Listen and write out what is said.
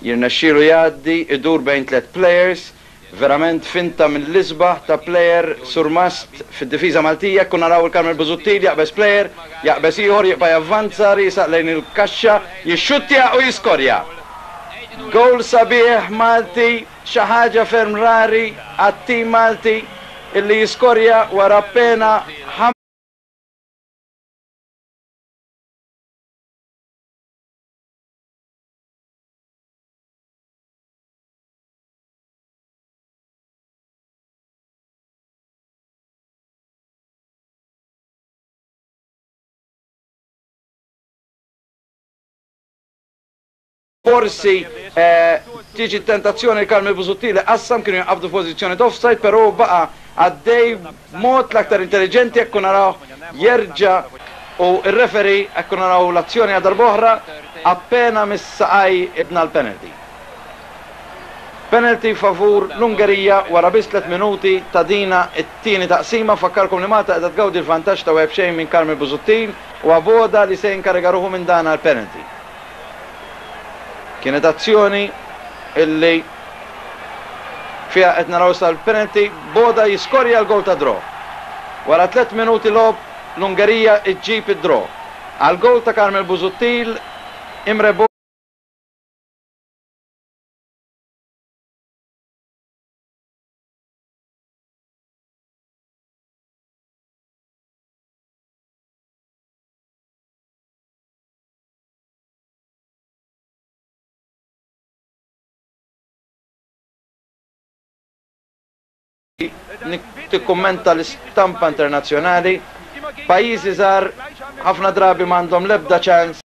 Jirnexxielu jgħaddi, idur bejn tlett plejers, verament finta mill-isbaħ ta' plejer surmast fid-difiża Maltija, hekk u naraw il-Carmel Busuttil jaqbeż plejer, jaqbeż ieħor, jibqa' javvanza, riesaq lejn il-kaxxa, jixxuttja u jiskorja! Gowl sabiħ Malti, xi ħaġa ferm rari għat-tim Malti illi jiskorja wara appena Forsi tiġi t-tentazzjoni li Carmel Busuttil iqassam, kienu jinqabdu f'pożizzjoni t'offside, però hu baqa' għaddej b'mod l-aktar intelliġenti hekk u narawh jerġa' u r-referee hekk u naraw l-azzjoni għal darb'oħra appena miss saqaj ibna l-penalty. Penalty favur l-Ungerija wara biss tlett minuti ta' dina t-tieni taqsima. Nfakkarkom li Malta qiegħda tgawdi l-vantaġġ ta' wieħed b'xejn minn Carmel Busuttil u Aboda li se jinkariga ruħu minn dana l-penalty. Kienet azzjoni illi fiha qed naraw issa l-penalty, Boda jiskorja l-gowl tad-draw. Wara tlett minuti logħob l-Ungerija ġġib id-draw. Għall-gowl ta' Carmel Busuttil, Imre Boda. Tikkummenta l-istampa internazzjonali, pajjiżi żgħar ħafna drabi m'għandhom l-ebda ċans.